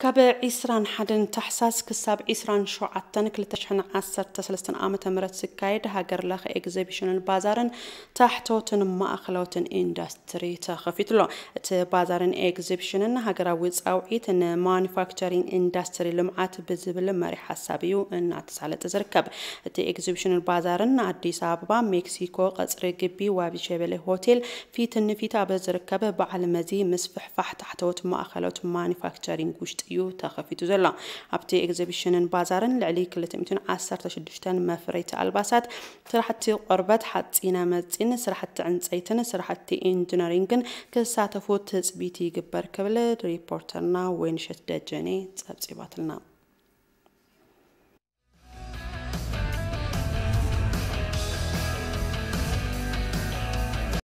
ካብ ዕስራን ሓደን ታሕሳስ ክሳብ ዕስራን ሸውዓተን ክልተ ሽሕን ዓሰርተ ሰለስተን ዓመተ ምህረት ዝካየድ ሃገር ለኸ ኤግዚቢሽንን ባዛርን ታሕተዎትን ማእኸላዎትን ኢንዱስትሪ ተኸፊቱ ኣሎ። እቲ ባዛርን ኤግዚቢሽንን ሃገራዊ ፃውዒት ንማኑፋክቸሪንግ ኢንዱስትሪ ልምዓት ብዝብል መሪ ሓሳብ እዩ እናተሳለጠ ዝርከብ። እቲ ኤግዚቢሽንን ባዛርን ኣዲስ ኣበባ ሜክሲኮ ቀፅሪ ግቢ ዋቢ ሸበሌ ሆቴል ፊት ንፊት ኣብ ዝርከብ በዓል መዚ ምስፍሕፋሕ ታሕተዎት ማእኸሎት ማኒፋክቸሪንግ ውሽጢ እዩ ተኸፊቱ ዘሎ። ኣብቲ ኤግዚቢሽንን ባዛርን ልዕሊ ክልተ ሚእትን ዓሰርተ ሽዱሽተን መፍረይቲ ኣልባሳት፣ ስራሕቲ ቆርበት፣ ሓፂነ መፂን፣ ስራሕቲ ዕንፀይትን ስራሕቲ ኢንጂነሪንግን ክሳተፉ ትፅቢት ይግበር ክብል ሪፖርተርና ወይንሸት ደጀኔ ፀብፂባትልና።